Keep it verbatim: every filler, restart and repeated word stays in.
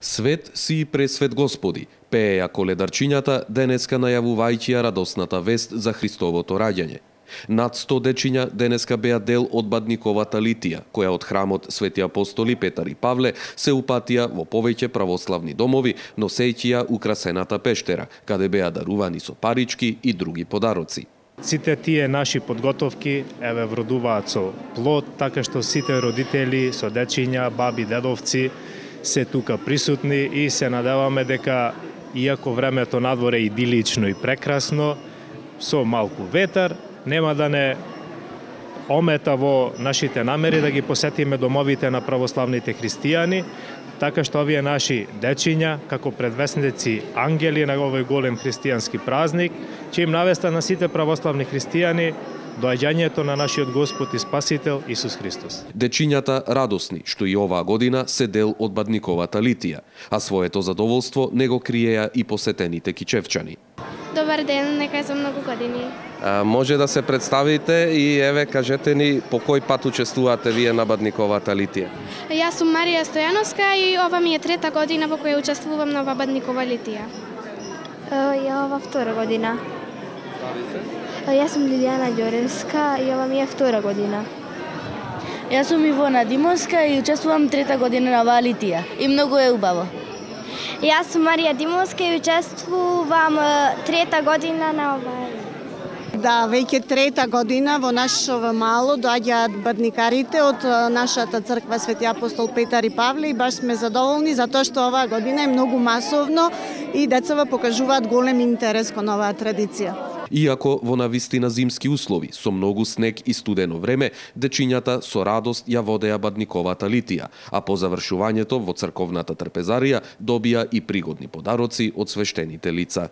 Свет си и пресвет Господи, пееја коледарчињата денеска најавувајќи ја радосната вест за Христовото раѓање. Над сто дечиња денеска беа дел од бадниковата литија, која од храмот Свети апостоли Петар и Павле се упатија во повеќе православни домови, носејќи ја украсената пештера, каде беа дарувани со парички и други подароци. Сите тие наши подготовки еве вродуваат со плод, така што сите родители со дечиња, баби, дедовци се тука присутни и се надеваме дека иако времето надвор е идилично и прекрасно, со малку ветар, нема да не омета во нашите намери да ги посетиме домовите на православните христијани, така што овие наши дечиња, како предвесници ангели на овој голем христијански празник, ќе им навеста на сите православни христијани доаѓањето на нашиот Господ и Спасител Исус Христос. Дечињата радосни што и оваа година се дел од бадниковата литија, а своето задоволство не го криеа и посетените кичевчани. Добар ден, нека за многу години. А, може да се представите и еве кажете ни по кој пат учествувате вие на бадниковата литија? Јас сум Марија Стојановска и ова ми е трета година во која учествувам на ова бадникова литија. Ја ова втора година. Јас сум Лилијана Ѓоревска и ова ми е втора година. Јас сум Ивона Димовска и учествувам трета година на оваа литија и многу е убаво. Јас сум Марија Димовска и учествувам трета година на оваа. Да, веќе трета година во нашо мало доаѓаат бадникарите од нашата црква Свети апостол Петар и Павле и баш сме задоволни затоа што оваа година е многу масовно и децата покажуваат голем интерес кон оваа традиција. Иако во навистина зимски услови, со многу снег и студено време, дечињата со радост ја водеа бадниковата литија, а по завршувањето во црковната трпезарија добија и пригодни подароци од свештените лица.